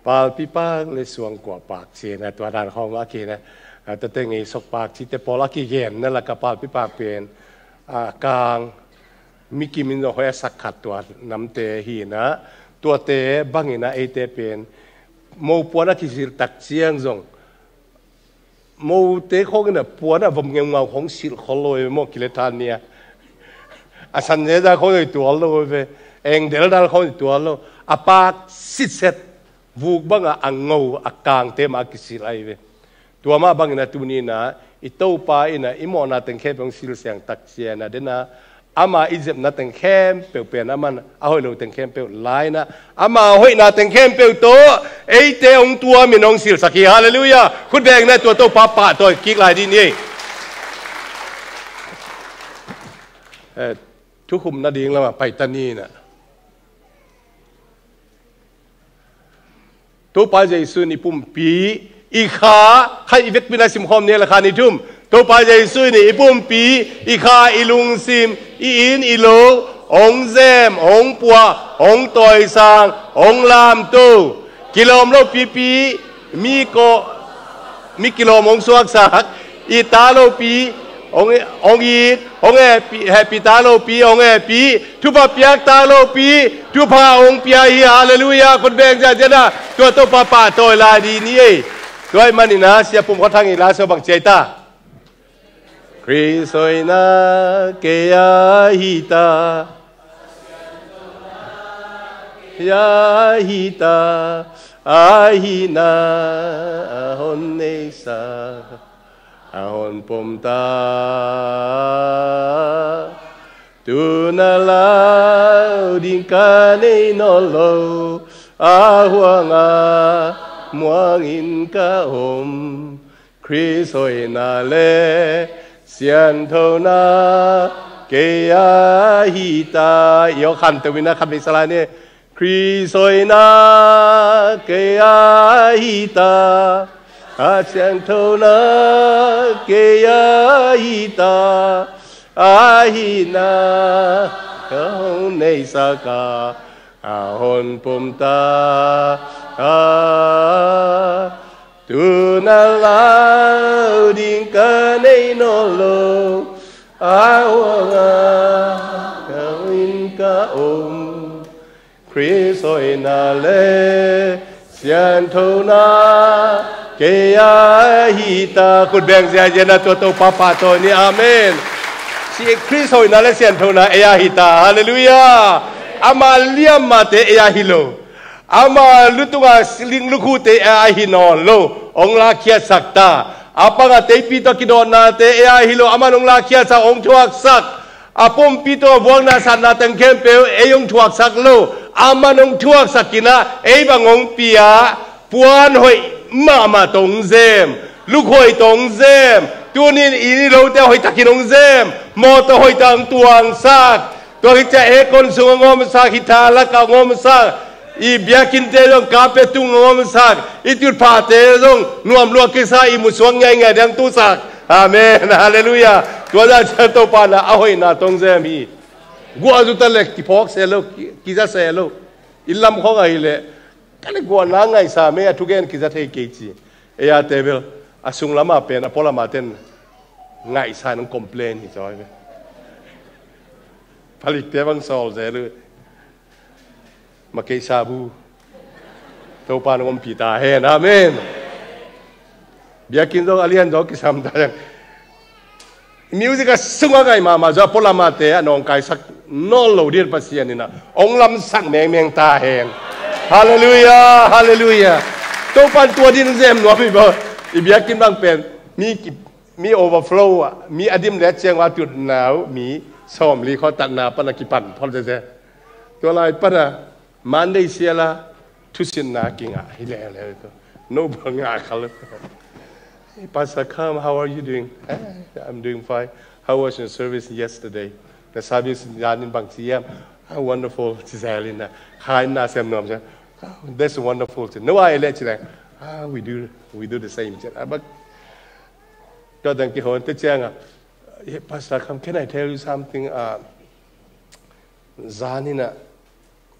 palpi pak le suangkua pak ci in ah, tua dan khawng a ki in ah, a, tate ngei sok pak cite pawl a kigenna lakah palpi pak pen, a, kang, mi kim in zong hoih a sak khat tua namte hi in ah, tuate bang in ah eite pen mo puan a kisilh tak ciang zong, mote khawng in ah puan a vom ngeungau khawng silh khol lo ve maw, kile than ni a. A san zeza khawng zong tual lo ve, engdel dal khawng zong tual lo. A pak sitset, vuk bang a, a ngo, a kangte mah a kisilh ahi ve. Tua mah bang in ah tuni in ah i Topa in ah i mawhna teng khempeuh hong silsiang tak ciang in ah, den a, Ama i zepna teng khempeuh pen aman a hoih lo teng khempeuh la-in ah, ama hoihna teng khempeuh tawh eite hong tuamin hong silsak hi. Halleluiah. Khut beng in ah tua Topa pahtawi kik lai dih ni. Eh, thukhupna ding lamah pai ta ni in ah. Topa Jesu in i pumpi, i kha, kha i vekpi-in ah simkhawm ni, la kha ni thum. Topa Jesu in i pumpi, i kha, i lungsim, i inn, i lo hong zem, hong puah, hong tawisang, hong lamto. Kilawm lo pipi, mi ko, mi kilawm hong suaksak, it ta lopi hong, hong it, hong hehpih, hehpih ta lopi hong hehpih, thupha piak ta lopi thupha hong pia hi. Halleluiah. Khut beng ziahziah in ah tua Topa pahtawi lai dih ni ei. Tua ahih manin ah Sia Pum Khua Thang in la sawm bang ci-a hi ta. Khrist hoihna kei a hi ta, kei a hi ta, a hihna a hon neihsak, a hon pom ta. Tu-in ah lau ding ka nei nawn lo, a huang a muang in ka om. Khrist hoihna le sianthona kei a hi ta. I aw khanto-in ah khat vei sa lai ni. Khrist hoihna kei a hi ta, a sianthona kei a hi ta, a hihna ka hong neihsak a, a hon pom ta. A, tu-in ah lau ding ka nei nawn lo, a huang a muang in ka om. Khrist hoihna le sianthona kei a hi ta. Khut beng ziahziah in ah tua Topa pahtawi ni. Amen. Si Khrist hoihna le sianthona ei a hi ta. Halleluiah. Ama liam mahte ei a hi lo. Ama lutunga ling lukhute ei a hi nawn lo. Hong lakkhiatsak ta. A panga teipi tawh kidawtnate ei a hi lo. Aman hong lakkhiatsak, hong thuaksak. A pumpi tawh a vuakna satna teng khempeuh ei hong thuaksak lo. Aman hong thuaksak in ah ei bang hong pia. Puan hoih mahmah tawh hong zem, luk hoih tawh hong zem. Tuni-in i lote hoihtakin hong zem, mawtaw hoihtak hong tuangsak. Tua khit ciang aircon sung hong omsak, hita lakah hong omsak. I biakinnte zong carpet tung hong omsak. I tutphahte zong nuam lua kisa, i musuak ngiaingiai ding hong tusak. Amen. Halleluiah. Tua zah ciang Topa in ah a hoihna tawh hong zem hi. Guah zu ta leh kiphawk se lo, ki, kiza se lo. I lam khawng ahih leh, ka le guahna ngaihsa mei a thugen kiza thei kei ci. Ei a table a sunglam a pen a pualam a ten ngaihsa in hong complain hi zaw hi ve. Palikte bang sawl zel uh. Ma keisa bu. Topa in hong ompih ta hen. Amen. Biakinn zong a lian zaw kisam ta hen. Music a sung a ngai mahmah zaw a pualam a te a nawngkaisak nawn lo ding Pasian in ah hong lamsak mengmeng ta hen. Halleluiah, halleluiah. Topa in tua ding zem nuam hi baw. I biakinn bang pen mi ki, mi overflow a, mi a dim le a ciang a tutna uh, mi sawmli khawng tatna pan a kipan phot zeze. Tua lai pan a Monday sial a thusinna kingah hi leuleu. No bang ngah khal. Hey, Pastor Kam, how are you doing? "Eh, I'm doing fine. How was your service yesterday?" Na service zanin bang ci hiam? "Ah, wonderful," ci zel in a. Kha in na sem nuam zel. "Oh, that's wonderful," ci. No, a ei leh ci leng. "Ah, we do, we do the same," ci. Ah, but tua teng kikhawm te ciang a, "Hey, Pastor Kam, can I tell you something?" Ah, zanin a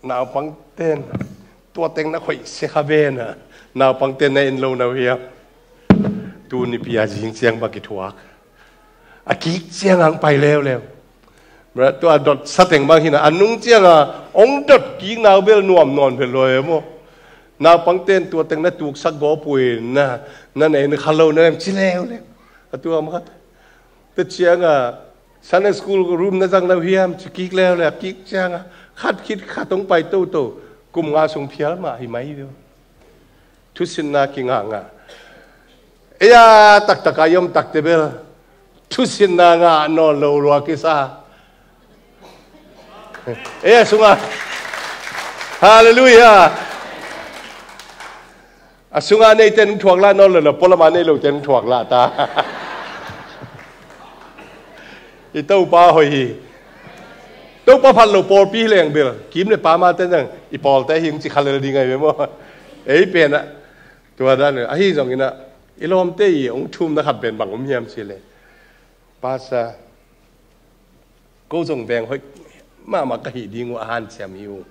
naupangte'n tua teng na khoih sia kha ven a, naupangte'n na en lo na uh hiam? Tu nipi a zing ciang bang kithuak. A kik ciang hong pai leuleu. Tua dot sa teng bang hi na, a nung ciang a hong dot kik na uh bel nuam nawn vet lo e maw. Naupangte'n tua teng na tuksak gawp uh in na, na na en kha lo na em ci leuleu. A tua mah khat. Tua ciang a, Sunday school room na zang lo hiam, ci kik leuleu, kik ciang a, khat khit khat hong pai toto, kum nga sung phial mah hi mai hi. Thusinna kingah ngah. Ei a taktak a i om takte bel thusinna ngah nawn lo lua kisa. Ei a sungah. Halleluiah. A sungah neite nung thuak lah nawn lo, na pualamah nei lote nung thuak lah ta. I Topa hoih hi. Topa phat lo pawlpi hi leng bel kim le pamate nang i pawlte hi hong ci kha lel ding ahi ve maw? Ei pen ah tua dan ahi zongin ah i lawmte i hong thumna khat pen bang om hiam cih leh, Pastor, ko zong veng hoih mahmah ka hih ding uh a hanciam hi uh.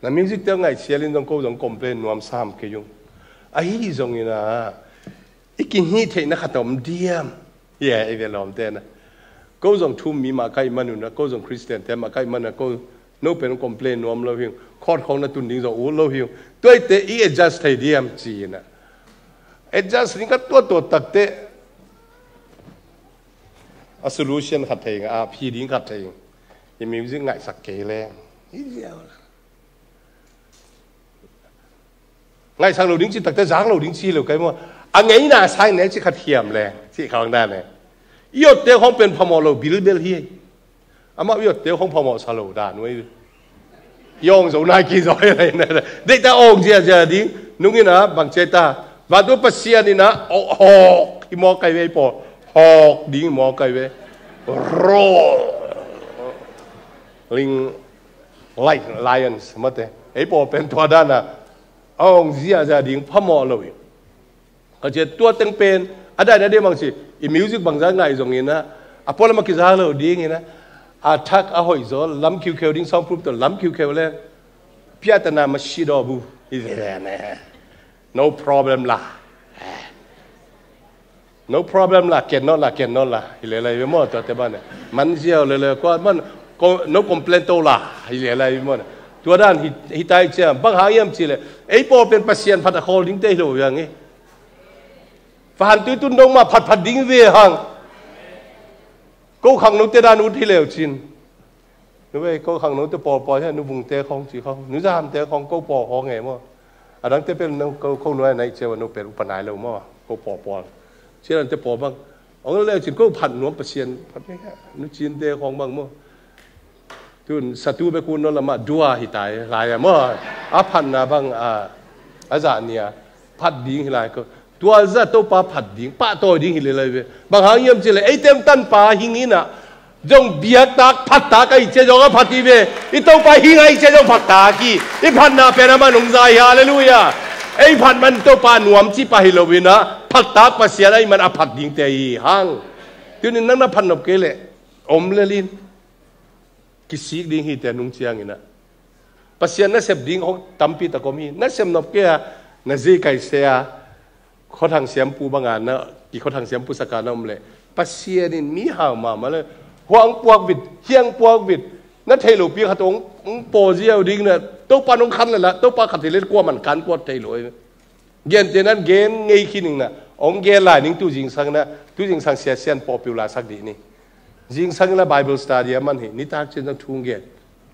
Na music te ngaihsial in zong ko zong complain nuam sam kei ung. Ahi zongin ah i kihih theihna khat a om diam? Hi e, i ve lawmte na. Ko zong thum mi mah ka hih man un ah, ko zong Christian te mah ka hih man ah, ko no pen complain nuam lo hi ung. Khawt khawng na tun ding zong ut lo hi ung. Tuaite i adjust thei diam ci-in ah, adjust ding khat tuat tuat takte a solution khat thei ing, a phi ding khat thei ing. I music ngaihsak kei leng, i ziau la. Ngaihsak lo ding ci takte zak lo ding ci lo kai maw? A ngeina sang ne ci khat hiam leng ci khawng dan e. I otte khawng pen phamawh lo bilbel hi. Amah i otte khawng phamawh sa lo dan uh ei. I awng zo nai ki zo hi lai na. Deih ta awng ziazia ding nung in ah bang ci ta. Vantung Pasian in ah hawk hi mawk kai ve ei pawl. Hawk ding hi mawk kai ve. Roar ling like lions mate. Ei pawl pen tua dan a awng ziazia ding phamawh lo hi. Ka ciat tua teng pen a dai na dei bang ci, i music bangza ngaih zongin ah a pualam a kiza lo dingin ah a thak a hoih zaw lam khiukheu ding, soundproof tawh lam khiukheu le piatana ma si daw bu hi ve ne. No problem la. No problem la, ken not la, ken not la. Hi le lai ve maw, tua te ban e. Man ziau le le, kua man, ko, no complain to la. Hi le lai ve maw. Tua dan hi, hi tai cia, bang hang hiam ci le. Ei pawl pen Pasian phat a khawl ding te hi lo viang e. Fa han tui tun dong ma phat phat ding ve hang. Ko khang no te dan ut hi leu cin. Nu vei ko khang no te pawl pawl hi, nu vung te khong ci khong. Nu zam te khong ko pawl khong e maw. A dang te pen no ko, ko nuai nai cia wa no pen upa nai lo maw. Ko pawl pawl. Cia dan te pawl bang. Ong le cin ko phat nuam Pasian. Phat me ka. Nu cin te khong bang maw. Tun satu be kun no lama dua hi tai lai a maw. A phat na bang a, a za nia. Phat ding hi lai ko. Tua za Topa phat ding, pahtawi ding hi le lai ve. Bang hang hiam ci le, ei tem tanpa hing in ah. Zong biaktak, phattak a i cia zong a phat hi ve. I Topa hing a i cia zong phattak hi. I phatna pen a man hong za hi, halleluiah. Ei phat man Topa nuam ci pah hi lo in ah. Phattak Pasian a i man a phat ding te hi hang. Tunin nang na phat nop kei le. Om le lin. Kisik ding hi te nung ciangin ah. Pasian nasep ding hong tampi tak om hi. Nasep nop kei a, na zi kai se a, khuathang siampu banga na, ki khuathang siampu saka na om le. Pasian in mi hau mama le. Huang puak vit, hiang puak vit. Na thei lo pi khat hong, hong paw ziau ding na. Topa nong khan le la, Topa khat hi le kua man kan kuat thei lo. Gente nan gen ngei khin ning na. Ong gen lai ning tu zingsang na. Tu zingsang sia sian pawh piu la sak dih ni. Zingsang la Bible study a man hi. Nitak cin zang thung gen.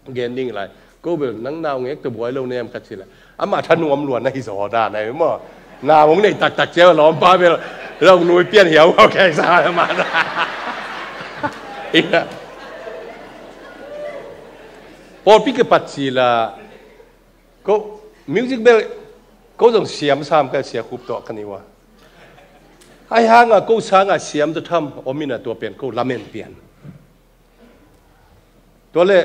Gen ding lai. Ko bel nang nau ngek tu buai lo nem ka ci la. Ama tha nuam luan na hi zaw da na maw. Na ong nei taktak cia lawm pa bel. Lo nui pian hiau. Okay, sa ma da. Ina. Pawlpi kipat ci la. Ko music bel ko zong siam sam ka sia khup tawh ka ni ua. Ai hanga ko sanga siam tawh tham om ina tua pen ko lamen pian. Tua le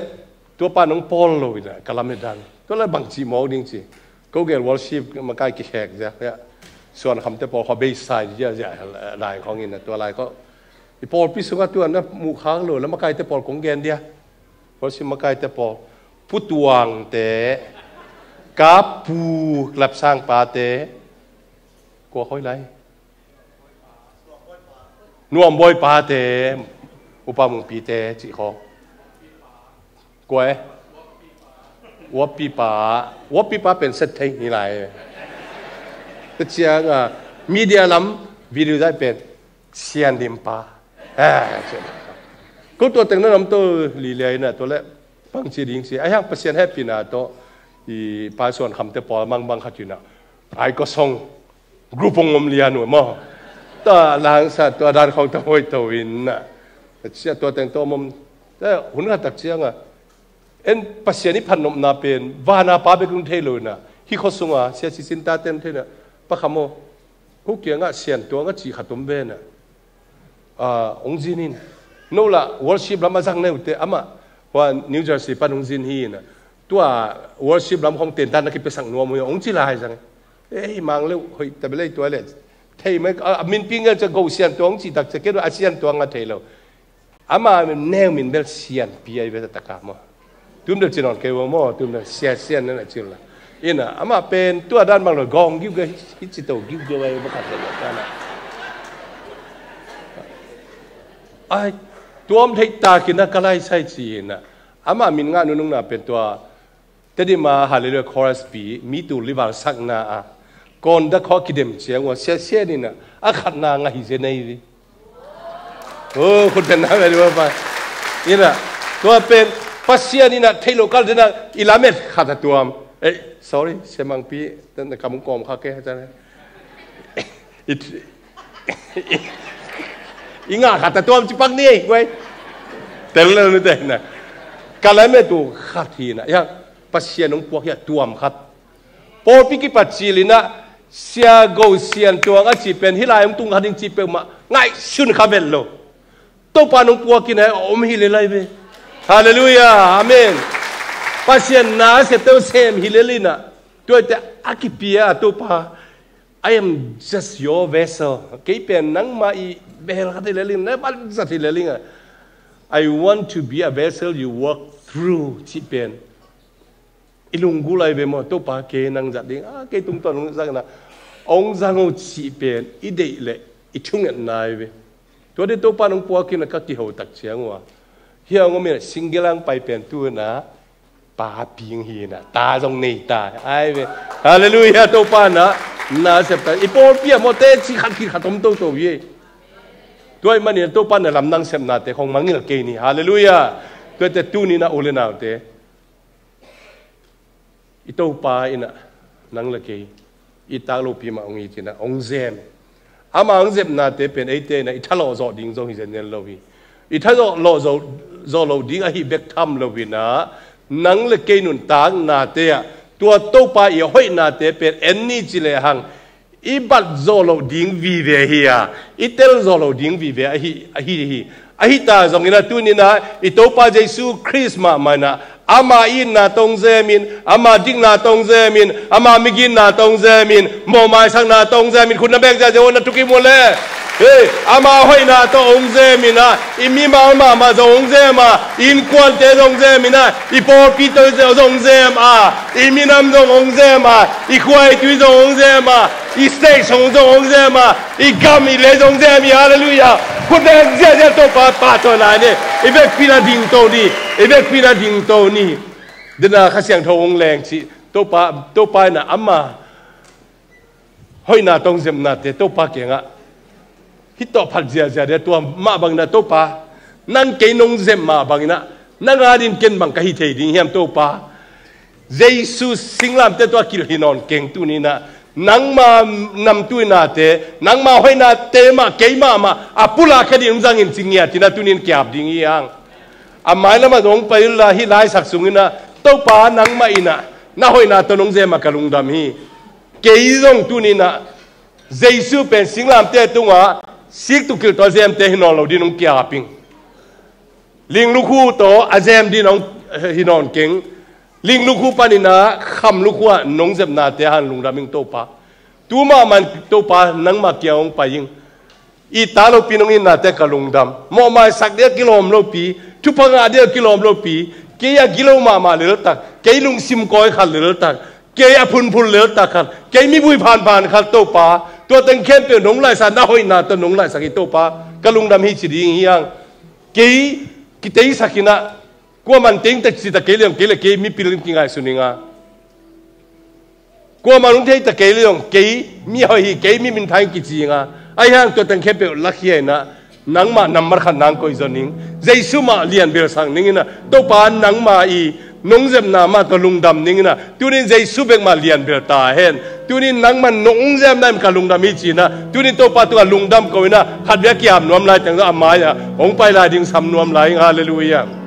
tua pa nong pawl lo ina ka lamen dan. Tua le bang ci mawk ding ci. Ko gel worship makai kikhek zia. Suan khamte pawl khaw beisai zia zia lai khawng ina tua lai ko. I pawlpi sunga tua na muh khak lo la makaite pawl kong gen dia. Worship makaite pawl. Putuangte, kapu, lapsang pate, kua khoi lai. Nuam boy pate, upa mungpite, cih kho. Kua e? Wapipa, wapipa pen set thei ni lai. Te ciang a, media lam, video zai pen. Sian dim pa. Eh, sian dim pa. Ko tua teng na nam to li liai na to le. Pang ci ding ci. Ai hang Pasian happy na to. I pa suan kham te pawl mang bang khat ina. Ai ko song. Group ong om lian u mo. Ta lang sa tua dan khong ta hoi to in na. Sia tua teng to mom. Eh, hun khat tak ciangah en Pasian i phatnopna pen vana pa bek hong thei lo inah, hih khua sunga Sia Sisin tate hong thei inah, Pa Kham aw, hu kiangah Sian Tuang a cih khat om ve inah, ah, hong zin in. No lah worship lam a zang neute, amah hua New Jersey pan hong zin hi inah, tua worship lam khong tentan na kipiasak nuam uh hi hong ci lai zang. Ei, mang leuh hoih ta belei tua le. Thei mai, a, a minpi ngel cia go Sian Tuang hong cih tak cia kei a Sian Tuang a thei lo. Ama neu min bel Sianpi ai ve ta ka maw. Tum deuh ci nawn kei uh maw, tum deuh Sia Sian na na ci uh la. Inah, ama pen tua dan bang lo gawng giugiau, hi ci to giugiau ai va khat le ta na. Ai, tuam theih takin a ka lai sai ci inah. Ama min ngah nunung na pen tua Tedim a Hallelujah Chorus pi, mi tul li val sakna a, kawn dak khawh kidem ciang uh a, Sia Sian inah a khatna ngah hi zen ei ve. Oh, khut beng na ve dua pa. Inah, tua pen Pasian inah theih loh kal denah i lamet khat a tuam. Eh, sorry, Sia Mangpi, na kam kawm kha ke, ta ne. I, i, i ngah khat a tuam ci pak ni ei, guai. Tel lo ni te na. Ka lamet uh khat hi inah, ya, Pasian hong puak hi a tuam khat. Pawlpi kipat cil inah, Sia Go Sian Tuang a cih pen, hih lai hong tung kha ding cih peuhmah ngaihsun kha vet lo. Topa nong puak inah a om hi le lai ve. Hallelujah, amen. Pasian na a septe uh sem hi le inah. Tua te a kipia Topa, I am just your vessel. Kei pen nangma i bel khat hi le inah, na vanzat hi le inah. I want to be a vessel you walk through, cih pen. I lunggulh ai ve maw, Topa kei nang zat ding, a, kei tungtawn hong zang inah, hong zang uh cih pen i deih leh i thungetna ai ve. Tua dih Topa nong puak inah ka kiho tak ciang uh a, hia hong om inah single ang pai pen tu inah, pa ping hi inah, ta zong nei ta ai ve. Hallelujah, Topa inah na sep ta. I pawlpi ah maw teci khat khit khat om toto hi. Tua ahih manin Topa inah lamdang sepnate khong mangngilh kei ni. Hallelujah. Tuate tuni inah u le naute, i Topa inah nang le kei i tak lopi mah hong it inah hong zem. Ama hong zepnate pen eite inah i thalawh zawh ding zong hi zenzen lo hi. I thalawh zawh, zawh loh ding ahi bek tham lo inah, nang le kei nuntaknate ah tua Topa i hoihnate pen en ni ci lehang, i bat zawh loh ding vive hi a, i tel zawh loh ding vive ahi, ahi hi. Ahi ta zong inah tuni inah i Topa Jesu Khrist mahmah inah, ama itna tawh hong zem in, ama dikna tawh hong zem in, ama migitna tawh hong zem in, mawhmaisakna tawh hong zem in, khut na beng ziahziah un, na thukim un le. Hei, ama hoihna tawh hong zem inah, i mimal mahmah zong hong zem a, i innkuante zong hong zem inah, i pawlpi tawh zong hong zem a, i minam zong hong zem a, i khua i tui zong hong zem a, i state zong hong zem a, i gam i lei zong hong zem hi. Hallelujah. Khut beng ziahziah Topa pahtawi lai ni. I vekpi inah dingto ni. I vekpi inah dingto ni. Dena Kha Siangtho hong leng cih, Topa, Topa inah ama hoihna tawh hong zepnate Topa kiangah hih tawh phat ziahziah ding a, tua mah bang inah Topa, nang kei nong zem mah bang inah, nang adingin ken bang ka hi thei ding hiam Topa? Jesu singlamteh tungah kilh hi nawn keng, tuni inah nangma namtuahnate, nangma hoihnate mah kei mahmah a pulak kha ding hong zang in ci ngiat inah tuni in ki-ap ding hi hang. A mailam ah zong hong pai un la, hih laisak sung inah Topa nangmah inah na hoihna tawh nong zem a ka lungdam hi. Kei zong tuni inah Jesu pen singlamteh tungah sik tuk kilh tawh a zemte hi nawn lo ding hong ki-ap ing. Ling lukhu tawh a zem ding hong hi nawn keng. Ling lukhu pan inah kham lukhu ah nong zepnate hang lungdam ing Topa. Tu mahmah in Topa nangmah kiang hong pai ing. I tak lopi nong itnate ka lungdam. Mawhmaisak ding a kilawm lopi, thupha ngah ding a kilawm lopi, kei a gilo mahmah leltak, kei lungsim kawi khat leltak, kei a phunphun leltak khat, kei mivui phanphan khat Topa, tua teng khempeuh nong laihsak, na hoihna tawh nong laihsak hi Topa, ka lungdam hi ci ding hi hang. Kei kiteisak inah, kuaman teng tak ci ta kei leng, kei le kei mipil in kingaihsun ing a. Kuaman hong thei ta kei leng, kei mi hoih hi, kei mi minthang hi kici ing a. Ahi hang tua teng khempeuh lakhia inah, nangmah nambat khat nang koih zaw ning. Jesu mah lianbelsak ning inah, Topa nangmah i nong zepna mah tawh lungdam ning inah, tuni in Jesu bek mah lianbel ta hen. Tuni in nangmah nong zepna in ka lungdam hi ci inah, tuni in Topa tungah lungdam ko inah, khatvei a ki-ap nuam lai teng zong a mai-ah hong pai lai ding sam nuam lai ing. Hallelujah.